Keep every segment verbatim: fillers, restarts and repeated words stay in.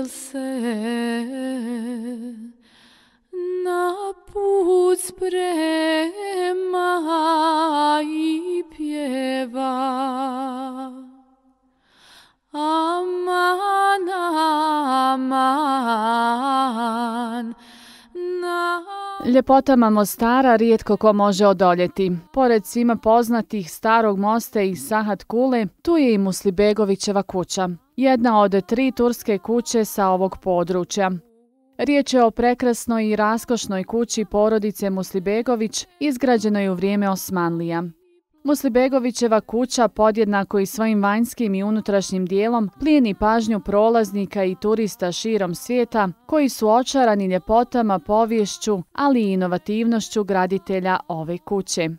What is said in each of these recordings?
se na put sprema i pjeva. Aman, aman, na... Ljepotama Mostara rijetko ko može odoljeti. Pored svima poznatih Starog mosta i Sahat Kule, tu je i Muslibegovićeva kuća, jedna od tri turske kuće sa ovog područja. Riječ je o prekrasnoj i raskošnoj kući porodice Muslibegović, izgrađenoj u vrijeme Osmanlija. Muslibegovićeva kuća podjednako i svojim vanjskim i unutrašnjim dijelom plijeni pažnju prolaznika i turista širom svijeta koji su očarani ljepotama, poviješću, ali i inovativnošću graditelja ove kuće.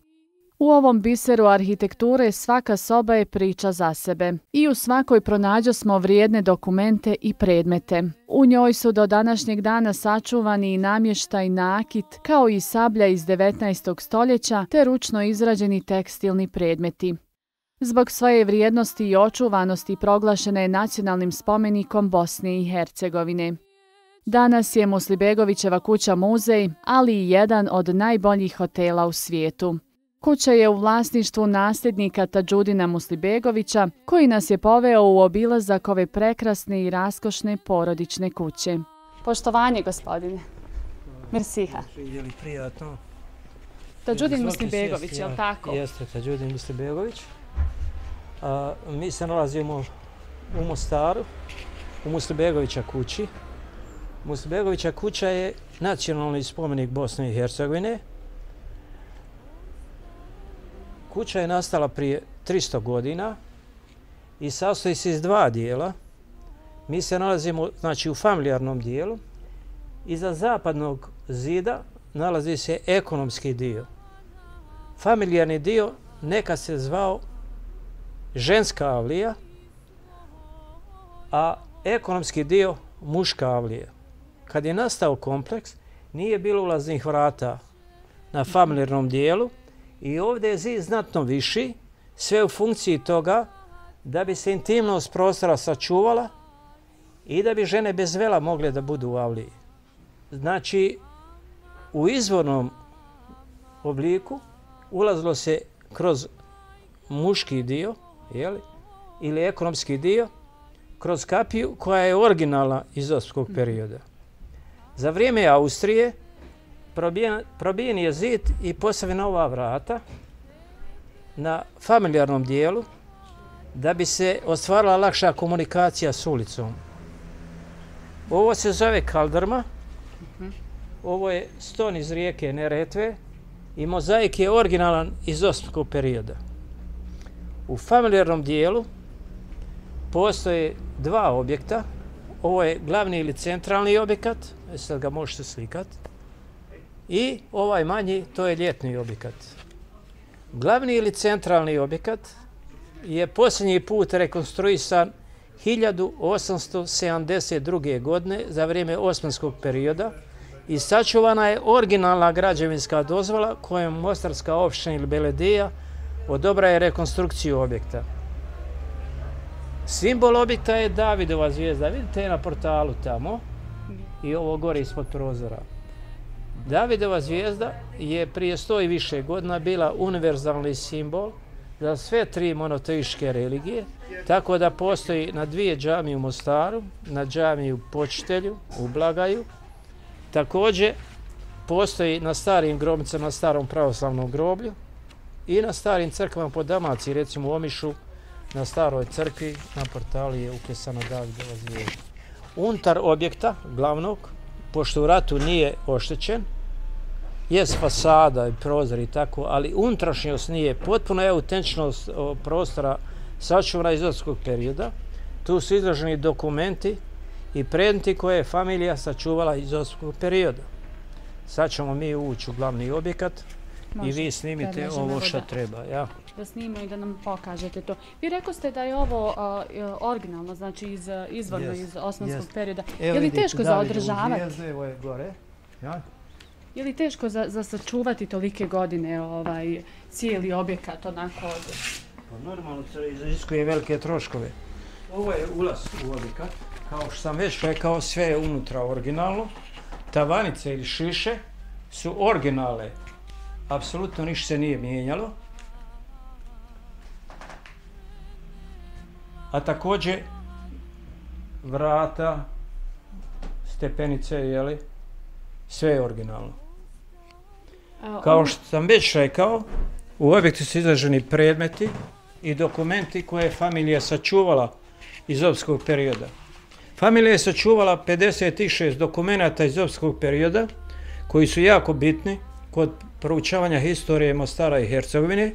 U ovom biseru arhitekture svaka soba je priča za sebe i u svakoj pronađosmo vrijedne dokumente i predmete. U njoj su do današnjeg dana sačuvani i namještaj, nakit, kao i sablja iz devetnaestog stoljeća te ručno izrađeni tekstilni predmeti. Zbog svoje vrijednosti i očuvanosti proglašena je nacionalnim spomenikom Bosne i Hercegovine. Danas je Muslibegovićeva kuća muzej, ali i jedan od najboljih hotela u svijetu. Kuća je u vlasništvu nasljednika Tadžudina Muslibegovića, koji nas je poveo u obilazak ove prekrasne i raskošne porodične kuće. Poštovanje, gospodine. Mersiha. Je li prijatno? Tadžudin Muslibegović, je li tako? Jeste, Tadžudin Muslibegović. A, mi se nalazimo u Mostaru, u Muslibegovića kući. Muslibegovića kuća je nacionalni spomenik Bosne i Hercegovine. Kuća je nastala prije tristo godina i sastoji se iz dva dijela. Mi se nalazimo, znači, u familijarnom dijelu. Iza zapadnog zida nalazi se ekonomski dio. Familijarni dio nekad se zvao ženska avlija, a ekonomski dio muška avlija. Kad je nastao kompleks, nije bilo ulaznih vrata na familijarnom dijelu, i ovdje je zid znatno viši, sve u funkciji toga da bi se intimnost prostora sačuvala i da bi žene bez vela mogle da budu u avliji. Znači, u izvornom obliku ulazilo se kroz muški dio, jeli, ili ekonomski dio, kroz kapiju koja je originalna iz osmanskog perioda. Za vrijeme Austrije Probijen, probijen je zid i postavljena ova vrata na familijarnom dijelu da bi se ostvarila lakša komunikacija s ulicom. Ovo se zove kaldrma, ovo je ston iz rijeke Neretve i mozaik je originalan iz osmanskog perioda. U familijarnom dijelu postoje dva objekta. Ovo je glavni ili centralni objekat, sad ga možete slikati. I ovaj manji, to je ljetni objekat. Glavni ili centralni objekat je posljednji put rekonstruisan hiljadu osamsto sedamdeset druge. godine za vrijeme osmanskog perioda i sačuvana je originalna građevinska dozvola kojom Mostarska opština ili Beledija odobraje rekonstrukciju objekta. Simbol objekta je Davidova zvijezda. Vidite je na portalu tamo i ovo gore ispod prozora. Davidova zvijezda je prije sto i više godina bila univerzalni simbol za sve tri monoteističke religije, tako da postoji na dvije džamije u Mostaru, na džamiji u Počitelju, u Blagaju. Također postoji na starim grobnicama, na starom pravoslavnom groblju i na starim crkvama po Dalmaciji, recimo u Omišu, na staroj crkvi, na portalu je uklesana Davidova zvijezda. Unutar objekta glavnog, pošto u ratu nije oštećen, jest fasada i prozor i tako, ali unutrašnjost nije. Potpuno je autentičnost prostora sačuvana iz osmanskog perioda. Tu su izloženi dokumenti i predmeti koje je familija sačuvala iz osmanskog perioda. Sad ćemo mi ući u glavni objekat. Može, i vi snimite ovo što treba. Ja. Da snimaju i da nam pokažete to. Vi rekao ste da je ovo uh, originalno, znači iz, izvorno yes. iz osmanskog yes. perioda. Evo je li teško za održavati? Evo je gore. Ja. Je li teško za, za sačuvati tolike godine ovaj, cijeli objekat onako od... Pa normalno se iziskuje velike troškove. Ovo je ulaz u objekat. kao što sam već rekao, sve je unutra originalno. Tavanice ili šiše su originale. Apsolutno ništa se nije mijenjalo. A također vrata, stepenice, jeli, sve je originalno. Kao što sam već rekao, u objektu su izraženi predmeti i dokumenti koje je familija sačuvala iz opskog perioda. Familija je sačuvala pedeset šest dokumenata iz opskog perioda koji su jako bitni kod proučavanja historije Mostara i Hercegovine.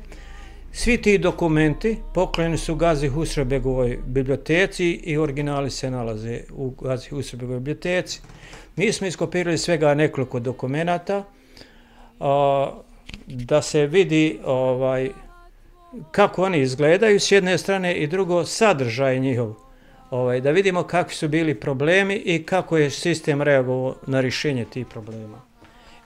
Svi ti dokumenti poklonjeni su Gazi Husrebegovoj biblioteci i originali se nalaze u Gazi Husrebegovoj biblioteci. Mi smo iskopirali svega nekoliko dokumenata a, da se vidi ovaj, kako oni izgledaju s jedne strane i drugo sadržaj njihov. Ovaj, da vidimo kakvi su bili problemi i kako je sistem reagovao na rješenje tih problema.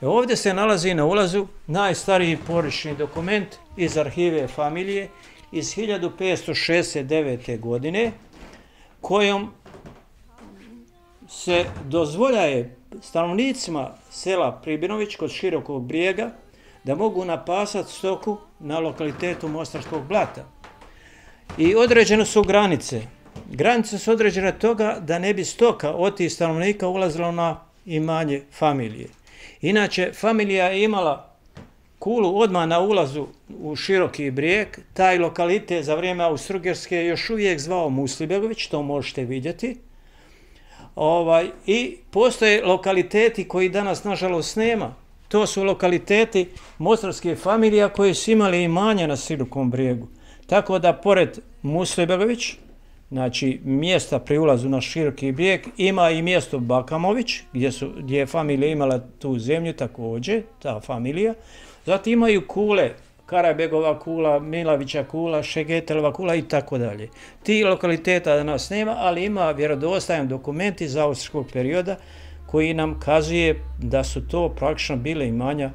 E, ovdje se nalazi na ulazu najstariji porodični dokument iz arhive familije iz hiljadu petsto šezdeset devete. godine, kojom se dozvoljaje stanovnicima sela Pribinović kod Širokog Brijega da mogu napasati stoku na lokalitetu Mostarskog Blata. I određene su granice. Granice su određene toga da ne bi stoka od tih stanovnika ulazila na imanje familije. Inače, familija je imala kulu odmah na ulazu u Široki Brijeg. Taj lokalitet za vrijeme Austro-Ugarske je još uvijek zvao Muslibegović, to možete vidjeti. Ovaj, I postoje lokaliteti koji danas, nažalost, nema. To su lokaliteti mostarske familije koje su imali imanja na Širokom Brijegu. Tako da, pored Muslibegović, znači mjesta pri ulazu na Široki Brijeg, ima i mjesto Bakamović, gdje, su, gdje je familija imala tu zemlju također, ta familija. Zatim imaju kule, Karabegova kula, Milavića kula, Šegetelova kula i tako dalje. Ti lokaliteta danas nema, ali ima vjerodostojan dokument iz austrijskog perioda koji nam kazuje da su to praktično bile imanja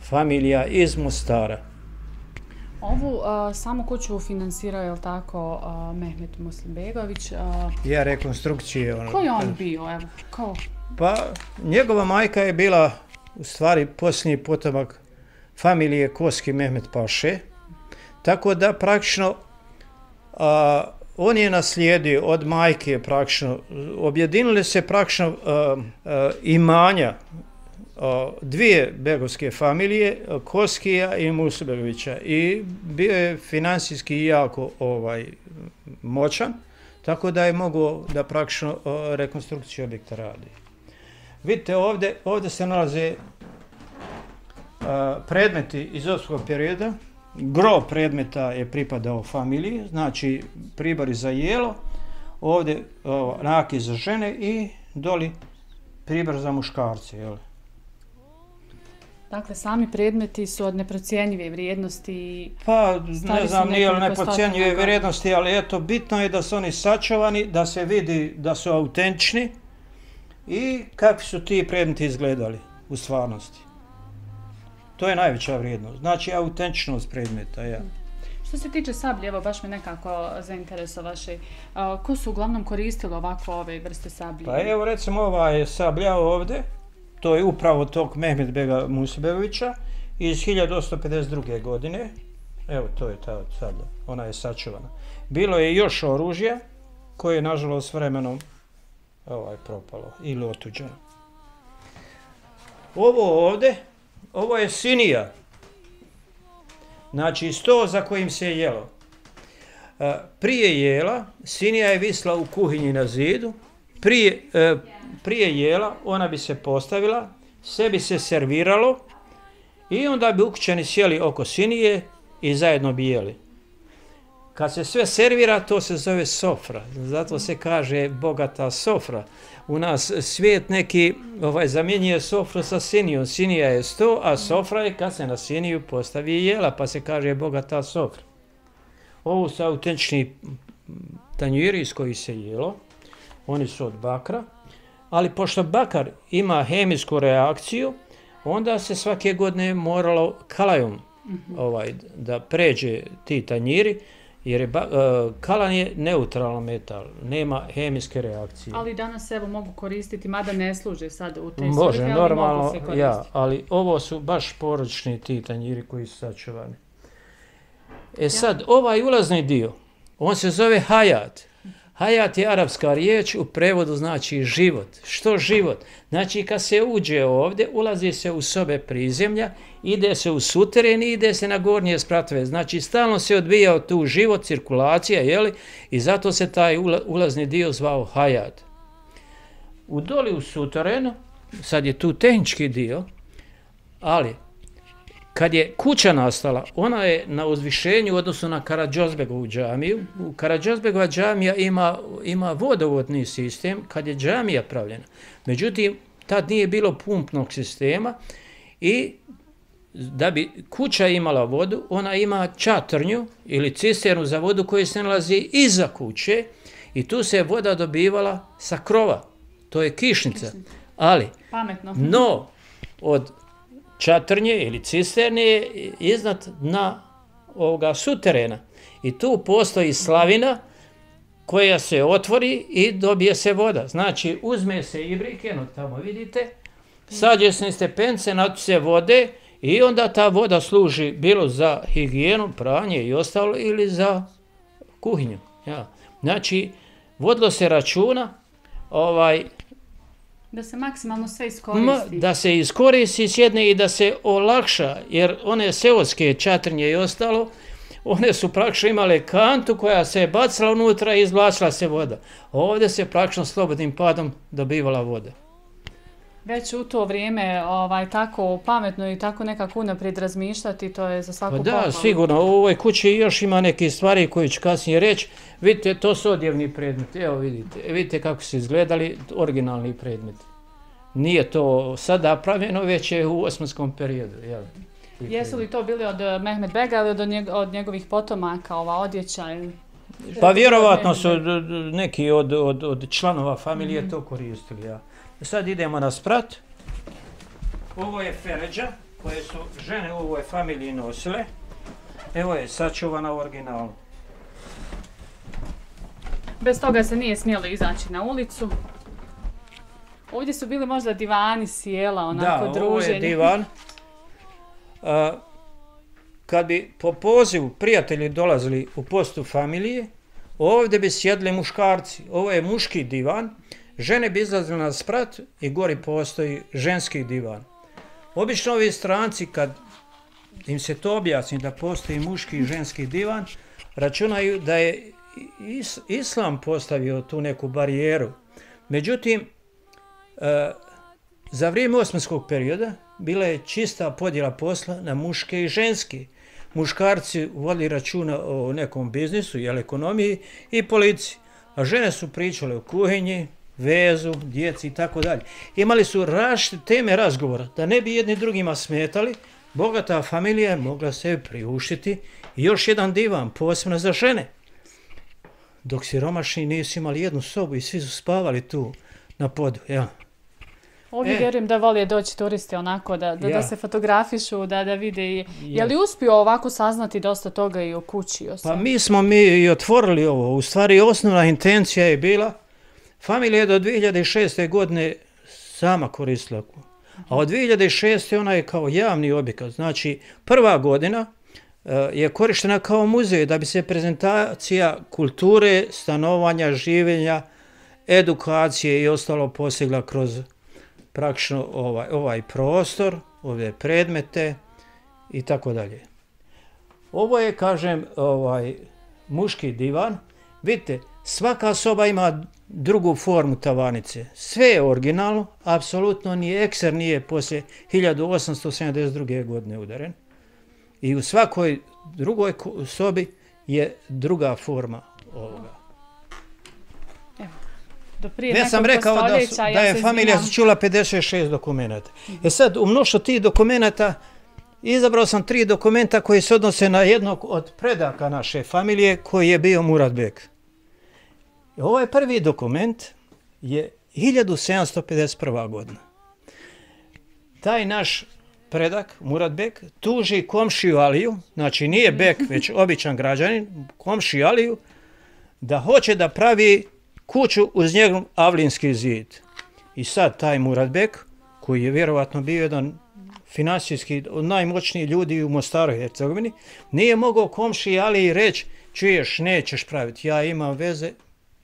familija iz Mostara. Ovu uh, samu kuću finansirao, je li tako, uh, Mehmet Muslibegović? Uh, ja rekonstrukcije. Ono, ko je on bio? Evo, ko? Pa, njegova majka je bila u stvari posljednji potomak familije Koski Mehmet Paše, tako da praktično a, on je naslijedio od majke praktično, objedinile se praktično a, a, imanja a, dvije begovske familije, Koskija i Muslibegovića, i bio je finansijski jako ovaj, moćan, tako da je mogao da praktično a, rekonstrukciju objekta radi. Vidite ovdje, ovdje se nalaze predmeti iz opskog perioda. Gro predmeta je pripadao familiji, znači pribori za jelo, ovdje o, naki za žene i doli pribor za muškarce. Jel? Dakle, sami predmeti su od neprocjenjive vrijednosti. Pa, ne znam, nije li neprocjenjive vrijednosti, ali eto, bitno je da su oni sačuvani, da se vidi da su autentični i kakvi su ti predmeti izgledali u stvarnosti. To je najveća vrijednost, znači autentičnost predmeta. Ja. Što se tiče sablje, evo baš me nekako zainteresovaše. Ko su uglavnom koristili ovako ove vrste sablje? Pa evo recimo ova je sablja ovdje, to je upravo tog Mehmet Bega Muslibegovića iz hiljadu osamsto pedeset druge. godine. Evo to je ta sablja, ona je sačuvana. Bilo je još oružja koje je nažalost vremenom ovaj, propalo ili otuđeno. Ovo ovdje, ovo je sinija, znači sto za kojim se jelo. Prije jela, sinija je visla u kuhinji na zidu, prije, prije jela ona bi se postavila, sve bi se serviralo i onda bi ukućani sjeli oko sinije i zajedno bi jeli. Kad se sve servira, to se zove sofra, zato se kaže bogata sofra. U nas svijet neki ovaj, zamjenjuje sofru sa sinijom. Sinija je sto, a sofra je kad se na siniju postavi jela, pa se kaže bogata sofra. Ovo su autentični tanjiri iz kojih se jelo. Oni su od bakra, ali pošto bakar ima hemijsku reakciju, onda se svake godine moralo kalajom ovaj, da pređe ti tanjiri, jer je, uh, kalan je neutralan metal, nema hemijske reakcije. Ali danas evo mogu koristiti, mada ne služe sad u te Može, svrhe, ali normalno, mogu se koristiti. ja, ali ovo su baš porodični ti tanjiri koji su sačuvani. E sad, ja. ovaj ulazni dio, on se zove hayat. Hayat je arapska riječ, u prevodu znači život. Što život? Znači kad se uđe ovdje, ulazi se u sobe prizemlja, ide se u suteren i ide se na gornje spratove. Znači stalno se odvijao tu život, cirkulacija, jeli? I zato se taj ulazni dio zvao hayat. U doli u suterenu, sad je tu tehnički dio, ali kad je kuća nastala, ona je na uzvišenju u odnosu na Karađozbegovu džamiju. U Karađozbegova džamija ima, ima vodovodni sistem kad je džamija pravljena. Međutim, tad nije bilo pumpnog sistema i da bi kuća imala vodu, ona ima čatrnju ili cisternu za vodu koja se nalazi iza kuće i tu se voda dobivala sa krova. To je kišnica. Ali, pametno. No, od čatrnje ili cisterne iznad dna ovoga suterena. I tu postoji slavina koja se otvori i dobije se voda. Znači, uzme se ibrik, eno tamo vidite, sađe se stepence, natu se vode i onda ta voda služi bilo za higijenu, pranje i ostalo ili za kuhinju. Ja. Znači, vodilo se računa, ovaj, da se maksimalno sve iskoristi. Da se iskoristi s jedne i da se olakša, jer one seoske čatrnje i ostalo, one su praktično imale kantu koja se je bacila unutra i izvlačila se voda. Ovdje se praktično slobodnim padom dobivala voda. Već u to vrijeme ovaj, tako pametno i tako nekako unaprijed razmišljati, to je za svaku pa da, pohvalu. sigurno. U ovoj kući još ima neke stvari koje ću kasnije reći. Vidite, to su odjevni predmeti. Evo vidite, vidite kako su izgledali originalni predmeti. Nije to sada pravljeno, već je u osmanskom periodu. Jel? Jesu li to bili od Mehmed Bega ili od, njeg, od njegovih potomaka, ova odjeća? Ili... Pa vjerovatno su neki od, od, od članova familije mm-hmm. to koristili. Ja. Sad idemo na sprat. Ovo je feređa koje su žene u ovoj familiji nosile. Evo je sačuvana u originalu. Bez toga se nije smjelo izaći na ulicu. Ovdje su bili možda divani, sjela, onako da, druženje. Da, ovo je divan. A, kad bi po pozivu prijatelji dolazili u postu familije, ovdje bi sjedli muškarci. Ovo je muški divan. Žene bi izlazile na sprat i gori postoji ženski divan. Obično ovi stranci, kad im se to objasni da postoji muški i ženski divan, računaju da je is, islam postavio tu neku barijeru. Međutim, e, za vrijeme osmanskog perioda bila je čista podjela posla na muške i ženske. Muškarci vodili računa o nekom biznisu, jel, ekonomiji i policiji, a žene su pričale o kuhinji, vezu, djeci i tako dalje. Imali su različite teme razgovora, da ne bi jedni drugima smetali. Bogata familija je mogla se priuštiti i još jedan divan, posebno za žene. Dok siromašni nisu imali jednu sobu i svi su spavali tu na podu. Ja. Ovdje e, vjerujem da volije doći turisti onako, da, da, ja. da se fotografišu, da, da vide. I, je li uspio ovako saznati dosta toga i o kući? O pa mi smo mi i otvorili ovo. U stvari osnovna intencija je bila, familija je do dvije hiljade šeste. godine sama koristila. A od dvije hiljade šeste. ona je kao javni objekat. Znači, prva godina uh, je korištena kao muzej da bi se prezentacija kulture, stanovanja, življenja, edukacije i ostalo postigla kroz praktično ovaj, ovaj prostor, ove predmete i tako dalje. Ovo je, kažem, ovaj muški divan. Vidite, svaka soba ima drugu formu tavanice. Sve je originalno, apsolutno ni ekser nije poslije hiljadu osamsto sedamdeset druge. godine udaren. I u svakoj drugoj sobi je druga forma ovoga. Ja sam rekao da, su, da je ja familija čula pedeset šest dokumenta. Mm-hmm. E sad, u mnoštvo tih dokumenta izabrao sam tri dokumenta koji se odnose na jednog od predaka naše familije koji je bio Murad Bek. Ovo je prvi dokument, je hiljadu sedamsto pedeset prva. godina. Taj naš predak, Murat Bek, tuži komšiju Aliju, znači nije Bek, već običan građanin, komšiju Aliju, da hoće da pravi kuću uz njegov avlinski zid. I sad taj Murat Bek, koji je vjerovatno bio jedan financijski od najmoćnijih ljudi u Mostaru i Hercegovini, nije mogao komšiji Aliji reći, čuješ, nećeš praviti, ja imam veze,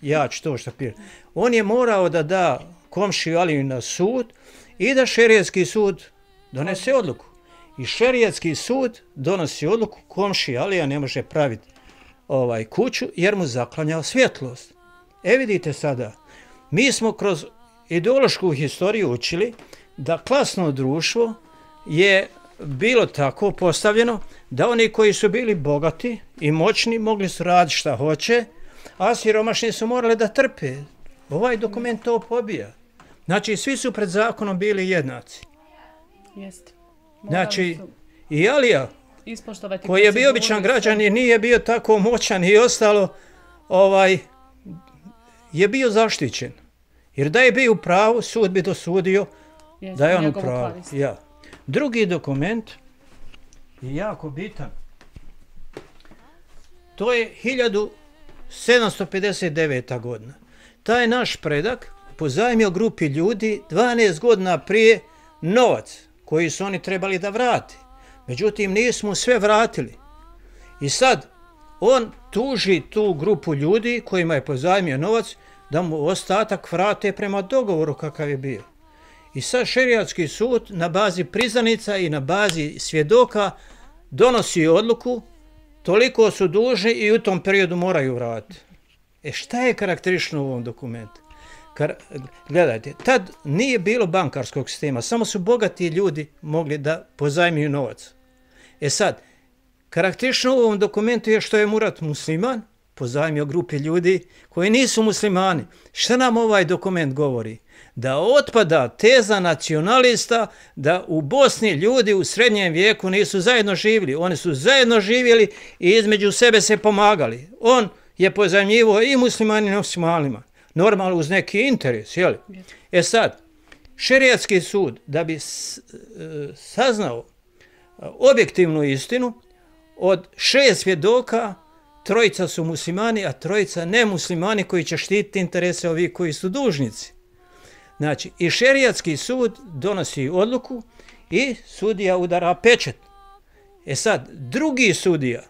ja ću to što pijem. On je morao da da komšiju Aliju na sud i da šerijatski sud donese odluku. I šerijatski sud donosi odluku, komšija Alija ne može praviti ovaj kuću jer mu zaklanjao svjetlost. E vidite sada, mi smo kroz ideološku historiju učili da klasno društvo je bilo tako postavljeno da oni koji su bili bogati i moćni mogli su raditi šta hoće, a siromašni su morali da trpe. Ovaj dokument to pobija. Znači, svi su pred zakonom bili jednaci. Jeste. Znači, i Alija, koji je bio običan građan i nije bio tako moćan i ostalo, ovaj, je bio zaštićen. Jer da je bio u pravu, sud bi dosudio Jeste, da je on u pravu. Ja. Drugi dokument je jako bitan. To je hiljadu sedamsto pedeset deveta. godina. Taj naš predak pozajmio grupi ljudi dvanaest godina prije novac koji su oni trebali da vrati. Međutim, nismo sve vratili. I sad on tuži tu grupu ljudi kojima je pozajmio novac da mu ostatak vrate prema dogovoru kakav je bio. I sad šerijatski sud na bazi priznanica i na bazi svjedoka donosi odluku, toliko su dužni i u tom periodu moraju vratiti. E šta je karakteristično u ovom dokumentu? Kar, gledajte, tad nije bilo bankarskog sistema, samo su bogati ljudi mogli da pozajmiju novac. E sad, karakteristično u ovom dokumentu je što je Murat musliman, pozajmio grupi ljudi koji nisu muslimani. Šta nam ovaj dokument govori? Da otpada teza nacionalista da u Bosni ljudi u srednjem vijeku nisu zajedno živjeli. Oni su zajedno živjeli i između sebe se pomagali. On je pozajmljivao i muslimani i nemuslimanima. Normalno uz neki interes, jel? E sad, šerijatski sud da bi saznao objektivnu istinu, od šest svjedoka trojica su muslimani, a trojica nemuslimani koji će štititi interese ovih koji su dužnici. Znači, i šerijatski sud donosi odluku i sudija udara pečat. E sad, drugi sudija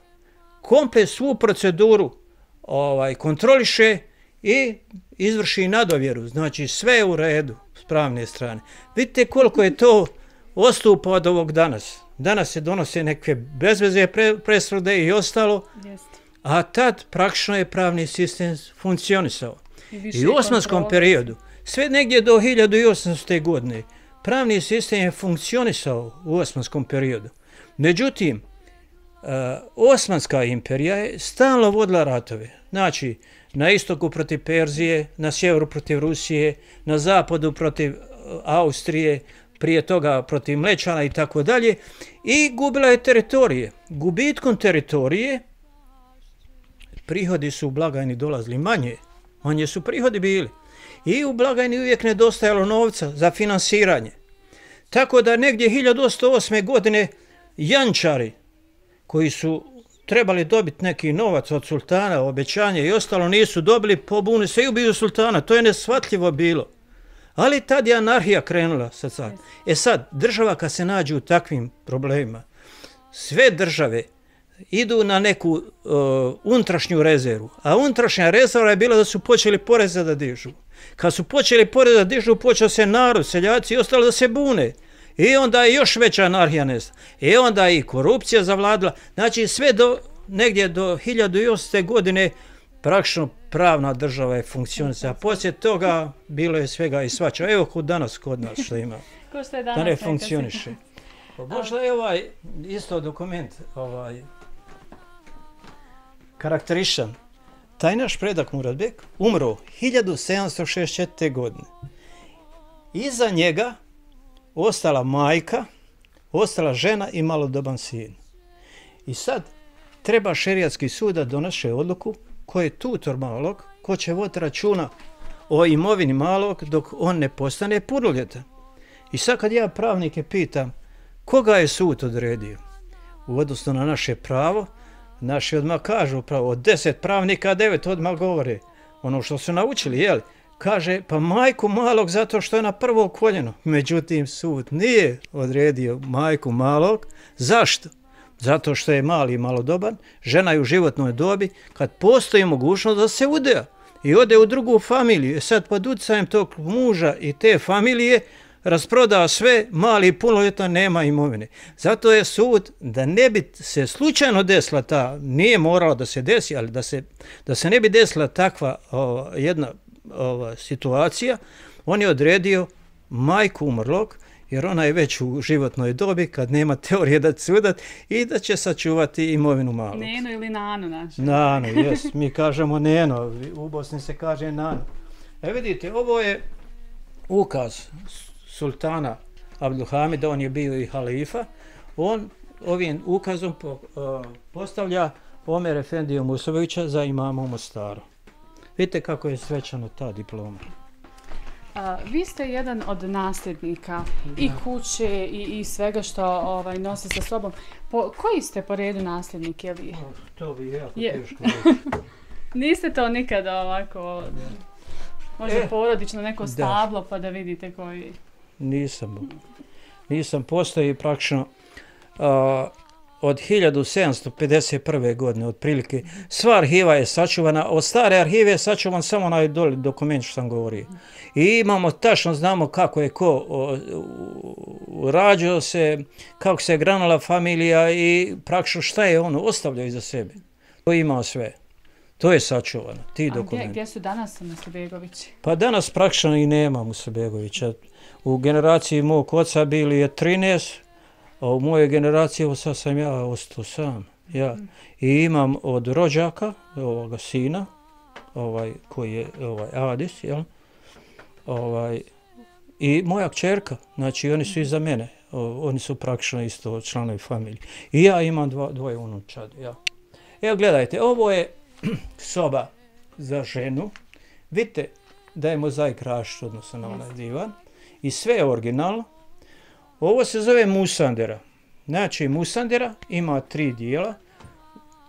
komplet svu proceduru ovaj, kontroliše i izvrši nadovjeru. Znači, sve je u redu s pravne strane. Vidite koliko je to odstupa od ovog danas. Danas se donose neke bezveze presude i ostalo, a tad praktično je pravni sistem funkcionisao. I, I u osmanskom periodu, sve negdje do hiljadu osamstote. godine, pravni sistem je funkcionisao u osmanskom periodu. Međutim, Osmanska imperija je stalno vodila ratove. Znači, na istoku protiv Perzije, na sjeveru protiv Rusije, na zapadu protiv Austrije, prije toga protiv Mlečana i tako dalje, i gubila je teritorije. Gubitkom teritorije prihodi su u blagajni dolazili manje, manje su prihodi bili. I u blagajni uvijek nedostajalo novca za finansiranje. Tako da negdje hiljadu osamsto osme. godine jančari koji su trebali dobiti neki novac od sultana, obećanje i ostalo, nisu dobili, pobuni se i ubiju sultana. To je neshvatljivo bilo. Ali tad je anarhija krenula. Sad, sad. E sad, država kad se nađe u takvim problemima, sve države idu na neku uh, unutrašnju rezervu. A unutrašnja rezerva je bila da su počeli poreze da dižu. Kad su počeli poreze da dižu, počeo se narod, seljaci i ostalo da se bune. I onda je još veća anarhija nesta. I onda je i korupcija zavladila. Znači sve do negdje do hiljadu osamstote. godine praktično pravna država je funkcionisala. Poslije toga bilo je svega i svača. Evo kod danas kod nas što ima. Ko što je danas da ne funkcioniše. Možda je ovaj isto dokument ovaj, karakterističan. Taj naš predak Murat Bek umro hiljadu sedamsto šezdeset četvrte. godine. Iza njega ostala majka, ostala žena i malodoban sin. I sad treba šerijatski sud da donese odluku ko je tutor malog, ko će voditi računa o imovini malog dok on ne postane punoljetan. I sad kad ja pravnike pitam Koga je sud odredio? U odnosu na naše pravo, naši odmah kažu pravo, od deset pravnika, devet odmah govore ono što su naučili, jel? Kaže, pa majku malog zato što je na prvo koljeno. Međutim, sud nije odredio majku malog. Zašto? Zato što je mali i malodoban, žena je u životnoj dobi, kad postoji mogućnost da se udea i ode u drugu familiju. E sad pod utjecajem tog muža i te familije rasproda sve, mali i punoljetan nema imovine. Zato je sud, da ne bi se slučajno desila ta, nije morala da se desi, ali da se, da se ne bi desila takva o, jedna ova situacija, on je odredio majku umrlog, jer ona je već u životnoj dobi kad nema teorije da će sudat i da će sačuvati imovinu malog. Neno ili nano naše. Nano, jes, mi kažemo neno, u Bosni se kaže nano. E vidite, ovo je ukaz sultana Abdulhamida, on je bio i halifa, on ovim ukazom po, uh, postavlja Omer Efendiju Musovića za imama u Mostaru. Vidite kako je svečano ta diploma. A, vi ste jedan od nasljednika i kuće i, i svega što ovaj, nosi sa sobom. Po, koji ste po redu nasljednik? Je li? Oh, to bi jako je. teško reći. Niste to nikada ovako, možda e, porodično neko stablo da. Pa da vidite koji... Nisam. Nisam, postoji praktično uh, od hiljadu sedamsto pedeset prve. godine otprilike. Sva arhiva je sačuvana, od stare arhive je sačuvan samo onaj doli dokument što sam govorio. I imamo, tačno znamo kako je ko rađao se, kako se granula familija i praktično šta je ono ostavljao iza sebe. To imao sve. To je sačuvano, ti A dokumenti. Gdje, gdje su danas Muslibegovići? Pa danas praktično i nema Muslibegovića. U generaciji mog oca bili je trinaest, a u mojoj generaciji, evo sad sam ja ostao sam. Ja. I imam od rođaka, ovoga sina, ovaj, koji je ovaj, Adis, jel? Ovaj, i moja kćerka, znači oni su iza mene, o, oni su praktično isto članovi familije. I ja imam dva, dvoje unučad. Ja. Evo gledajte, ovo je soba za ženu. Vidite da je mozaik rašt odnosno na onaj divan. I sve je originalno. Ovo se zove musandera. Znači musandera ima tri dijela.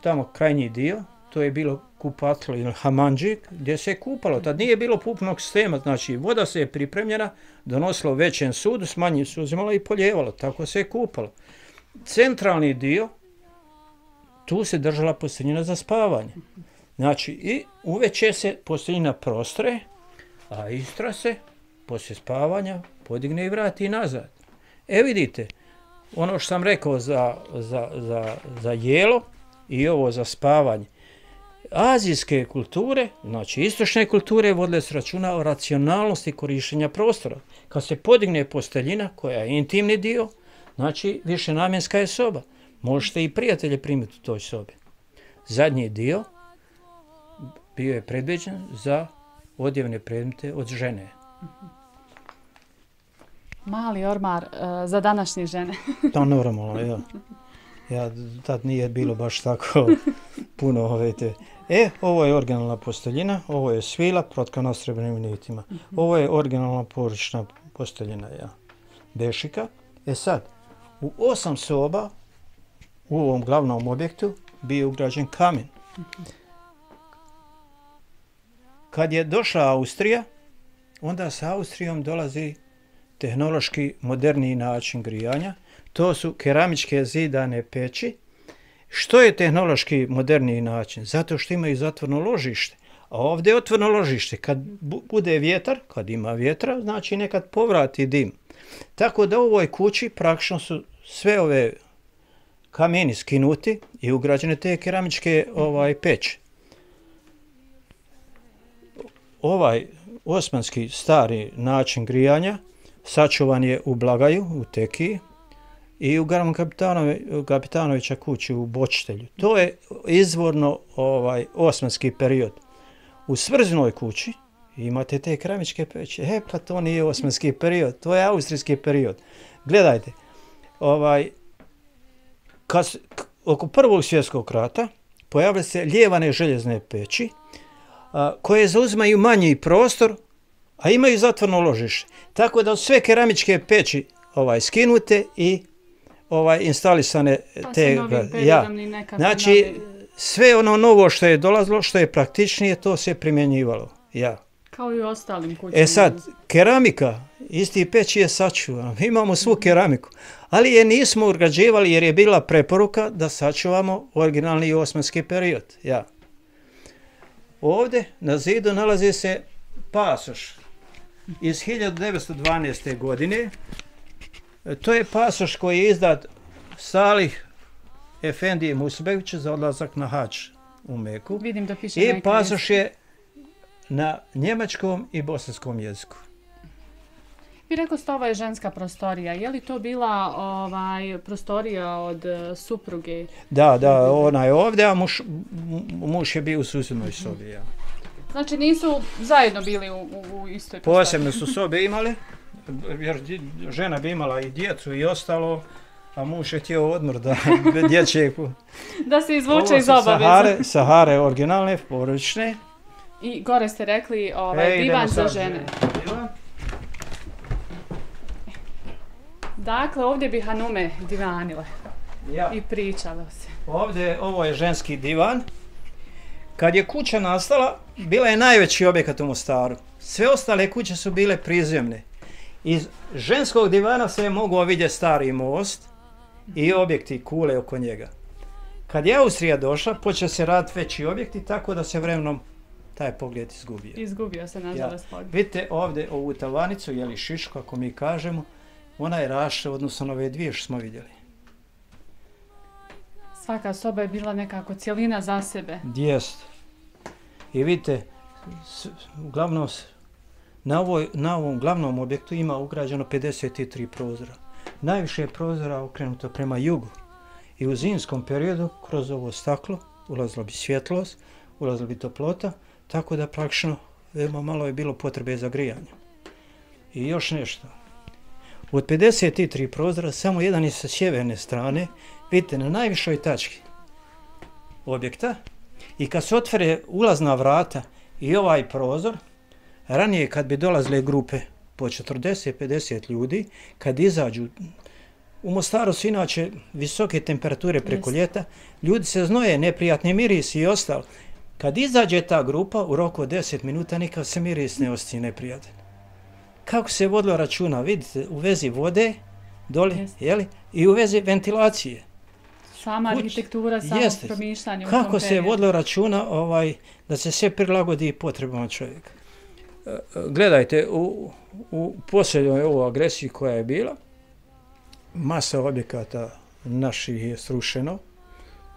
Tamo krajnji dio, to je bilo kupatlo ili hamandžik, gdje se je kupalo. Tad nije bilo pupnog sistema, znači voda se je pripremljena, donosila u većem sudu, s manjim se uzimala i poljevalo. Tako se je kupalo. Centralni dio, tu se držala posteljina za spavanje. Znači i uveče se posteljina prostre, a istra se poslije spavanja podigne i vrati nazad. E vidite, ono što sam rekao za, za, za, za jelo i ovo za spavanje. Azijske kulture, znači istočne kulture, vodile se računa o racionalnosti korištenja prostora. Kad se podigne posteljina, koja je intimni dio, znači višenamjenska je soba. Možete i prijatelje primiti u toj sobi. Zadnji dio bio je predviđen za odjevne predmete od žene. Mali ormar uh, za današnje žene. To normalno, ja. Ja, tad nije bilo baš tako puno ove te. E, ovo je originalna posteljina, ovo je svila protkana srebrnim nitima. Ovo je originalna porodična posteljina, ja. Bešika. E sad, u osam soba u ovom glavnom objektu bio ugrađen kamen. Kad je došla Austrija, onda sa Austrijom dolazi tehnološki moderniji način grijanja. To su keramičke zidane peći. Što je tehnološki moderniji način? Zato što imaju zatvorno ložište. A ovdje je otvoreno ložište. Kad bu- bude vjetar, kad ima vjetra, znači nekad povrati dim. Tako da u ovoj kući praktično su sve ove kameni skinuti i ugrađene te keramičke ovaj, peći. Ovaj osmanski stari način grijanja sačuvan je u Blagaju, u Tekiji i u Garmu Kapitanovića kući u Bočitelju. To je izvorno ovaj, osmanski period. U Svrzinoj kući imate te keramičke peći. E, pa to nije osmanski period, to je austrijski period. Gledajte, ovaj, kad, oko Prvog svjetskog rata pojavile se lijevane željezne peći, a, koje zauzimaju manji prostor, a imaju zatvorno ložište. Tako da sve keramičke peći ovaj, skinute i ovaj, instalisane Pa te... sa novim ja. periodom i nekakve Znači, nove- sve ono novo što je dolazilo, što je praktičnije, to se primjenjivalo. Ja. Kao i u ostalim kućama. E sad, keramika, isti peć je sačuvan, mi imamo svu keramiku, ali je nismo urgađivali jer je bila preporuka da sačuvamo originalni osmanski period. Ja. Ovdje na zidu nalazi se pasoš iz hiljadu devetsto dvanaeste. godine. To je pasoš koji je izdat Salih Efendije Musbegovića za odlazak na hač u Meku. Vidim da piše I na pasoš je na njemačkom i bosanskom jeziku. Vi rekao ste ovo je ženska prostorija. Je li to bila ovaj, prostorija od uh, supruge? Da, da, ona je ovdje, a muž, muž je bio u susjednoj sobi. Ja. Znači nisu zajedno bili u, u, u istoj prostoriji? Posebno su sobe imali, jer žena bi imala i djecu i ostalo, a muž je htio odmor da dječje... Da se izvuče iz Ovo obaveza. su Sahare, Sahare originalne, porodične. I gore ste rekli ovaj, E, divan idemo za sad. žene. Divan. Dakle, ovdje bi Hanume divanile Ja. i pričalo se. Ovdje, ovo je ženski divan. Kad je kuća nastala, bila je najveći objekat u Mostaru. Sve ostale kuće su bile prizemne. Iz ženskog divana se je mogao vidjeti stari most i objekti kule oko njega. Kad je Austrija došla, počeo se raditi veći objekti, tako da se vremenom taj pogled izgubio. Izgubio se, nažalost, Ja. pogled. Vidite ovdje ovu tavanicu, jeli šišku, ako mi kažemo, ona je rašla odnosno na ove dvije što smo vidjeli. Svaka soba je bila nekako cjelina za sebe. Jest. I vidite, s, uglavnom, s- na, ovoj, na ovom glavnom objektu ima ugrađeno pedeset tri prozora. Najviše je prozora okrenuto prema jugu. I u zimskom periodu, kroz ovo staklo, ulazila bi svjetlost, ulazila bi toplota, tako da praktično veoma malo je bilo potrebe za grijanje. I još nešto. Od pedeset tri prozora, samo jedan je sa sjeverne strane, vidite, na najvišoj tački objekta, i kad se otvore ulazna vrata i ovaj prozor, ranije kad bi dolazile grupe po četrdeset pedeset ljudi, kad izađu, u Mostaru su inače visoke temperature preko Jeste. ljeta, ljudi se znoje, neprijatni mirisi i ostalo. Kad izađe ta grupa, u roku od deset minuta nikad se miris ne osjeća neprijatan. Kako se vodilo računa, vidite, u vezi vode, dole, Jeste. jeli, i u vezi ventilacije. Sama Kuć- arhitektura, samo Jeste. promišljanje u Kako tom se periodu. vodilo računa ovaj, da se sve prilagodi potrebama čovjeka. E, e, Gledajte, u, u posljednjoj ovoj agresiji koja je bila, masa objekata naših je srušeno,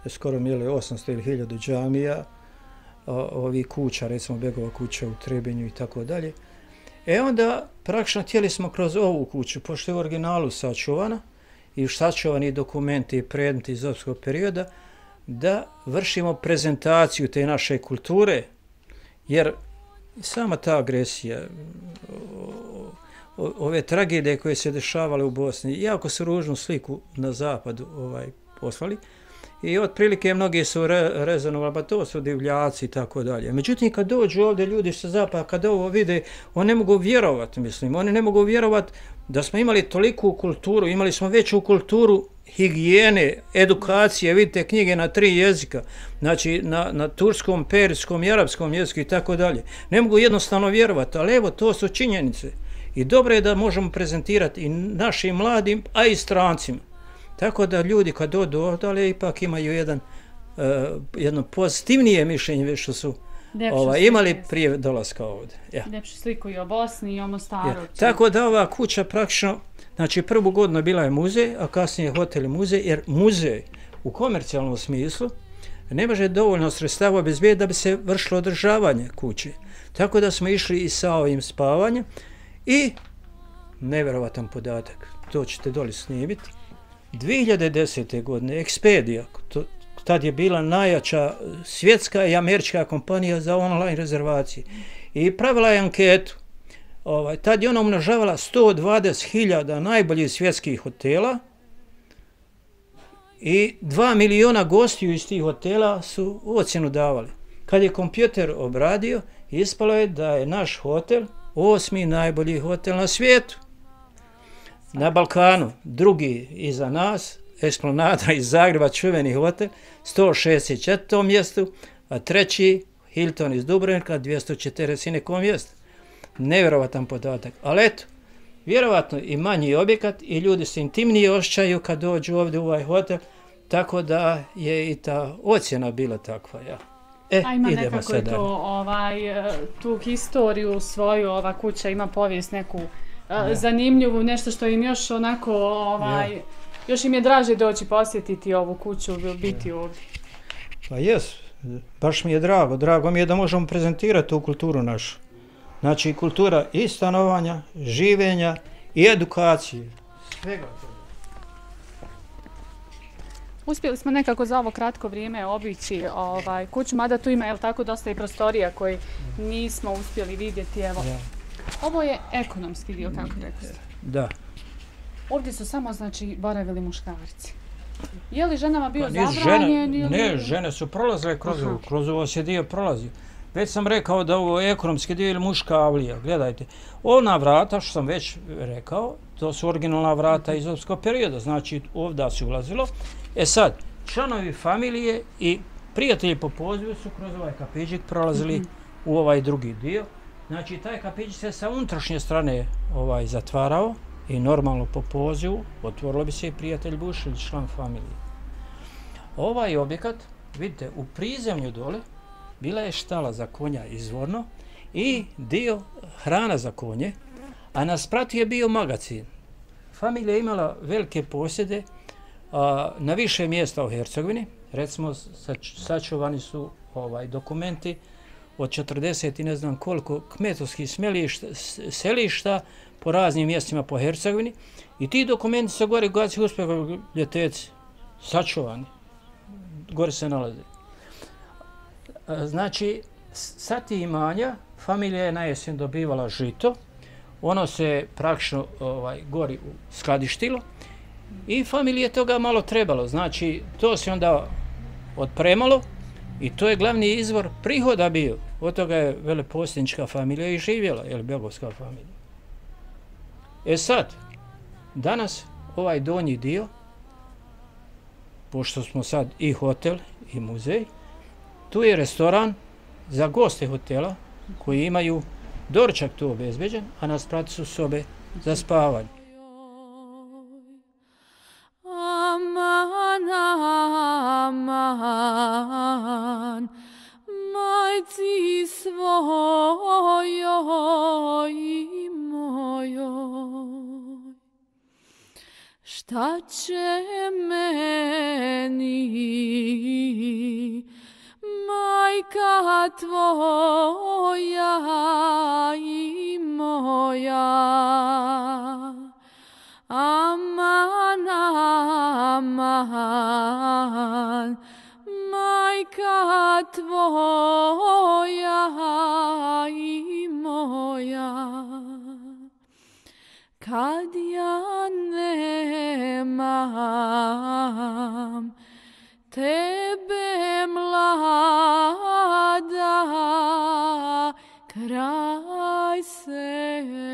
skoro mili osamsto ili hiljadu džamija, o, ovi kuća, recimo Begova kuća u Trebinju i tako dalje. E onda praktično htjeli smo kroz ovu kuću, pošto je u originalu sačuvana i sačuvani dokumenti i predmeti iz opskog perioda, da vršimo prezentaciju te naše kulture, jer sama ta agresija, o, o, ove tragedije koje se dešavale u Bosni, jako su ružnu sliku na zapadu ovaj, poslali, i otprilike mnogi su re, rezonovali, pa to su divljaci i tako dalje. Međutim, kad dođu ovdje ljudi sa zapada, kad ovo vide, oni ne mogu vjerovati, mislim, oni ne mogu vjerovati da smo imali toliku kulturu, imali smo veću kulturu higijene, edukacije, vidite knjige na tri jezika, znači na, na turskom, perskom i arapskom jeziku i tako dalje. Ne mogu jednostavno vjerovati, ali evo, to su činjenice. I dobro je da možemo prezentirati i našim mladim, a i strancima. Tako da ljudi kad dođu ovdje ipak imaju jedan, uh, jedno pozitivnije mišljenje već što su Ljepšu ovaj, sliku, imali jeste. prije dolaska ovdje. Ja. Ljepšu sliku i o Bosni i o Mostaru. Ja. Tako da ova kuća praktično, znači prvu godinu bila je muzej, a kasnije hotel i muzej, jer muzej u komercijalnom smislu ne može dovoljno sredstava obezbediti da bi se vršilo održavanje kuće. Tako da smo išli i sa ovim spavanjem i nevjerovatan podatak, to ćete doli snimiti. dvije hiljade desete. godine Expedia, to, tad je bila najjača svjetska i američka kompanija za online rezervacije, i pravila je anketu. Ovaj, tad je ona umnožavala sto dvadeset hiljada najboljih svjetskih hotela i dva miliona gostiju iz tih hotela su ocjenu davali. Kad je kompjuter obradio, ispalo je da je naš hotel osmi najbolji hotel na svijetu. Na Balkanu, drugi iza nas, Esplanada iz Zagreba, čuveni hotel, sto šezdeset četvrtom mjestu, a treći Hilton iz Dubrovnika, dvjesto četrdeset nekom mjestu. Nevjerovatan podatak. Ali eto, vjerovatno i manji objekat i ljudi se intimnije osjećaju kad dođu ovdje u ovaj hotel, tako da je i ta ocjena bila takva. Ja. E, A ima idemo nekako sad to, ovaj, tu historiju svoju, ova kuća ima povijest neku ja. zanimljivu, nešto što im još onako, ovaj, ja. još im je draže doći posjetiti ovu kuću, biti ja. ovdje. Pa jes, baš mi je drago, drago mi je da možemo prezentirati tu kulturu našu. Znači kultura i stanovanja, življenja i edukacije. Svega toga. Uspjeli smo nekako za ovo kratko vrijeme obići ovaj, kuću, mada tu ima, jel tako, dosta i prostorija koji nismo uspjeli vidjeti. Evo. Ja. Ovo je ekonomski dio, kako rekao ste. Da. Ovdje su samo, znači, boravili muškarci. Je li ženama bio pa, zabranjen? Žene, ne, žene su prolazile kroz ovo, kroz ovo se dio prolazio. Već sam rekao da ovo je ekonomski dio ili muška avlija. Gledajte, ona vrata, što sam već rekao, to su originalna vrata iz opskog perioda, znači ovdje se ulazilo. E sad, članovi familije i prijatelji po pozivu su kroz ovaj kapiđik prolazili mm-hmm. u ovaj drugi dio. Znači, taj kapiđik se sa unutrašnje strane ovaj, zatvarao i normalno po pozivu otvorilo bi se i prijatelj Buš ili član familije. Ovaj objekat, vidite, u prizemlju dole bila je štala za konja izvorno i dio hrana za konje, a na spratu je bio magacin. Familija je imala velike posjede a, na više mjesta u Hercegovini. Recimo, sač, sačuvani su ovaj, dokumenti od četrdeset i ne znam koliko kmetovskih smelišta, selišta po raznim mjestima po Hercegovini. I ti dokumenti se gore gaci uspjeha ljeteci, sačuvani. Gore se nalaze. Znači, sa ti imanja familija je na jesen dobivala žito, ono se praktično ovaj, gori skladištilo i familije toga malo trebalo. Znači, to se onda otpremalo i to je glavni izvor prihoda bio. Od toga je veleposjednička familija i živjela, ili Begovska familija. E sad, danas ovaj donji dio, pošto smo sad i hotel i muzej, tu je restoran za goste hotela koji imaju doručak tu obezbeđen, a na spratu su sobe za spavanje. Aman, aman, majci svojoj i mojoj, šta će meni majka tvoja i moja? Aman, aman, majka tvoja i moja, kad ja nemam tebe mlada kraj sebe.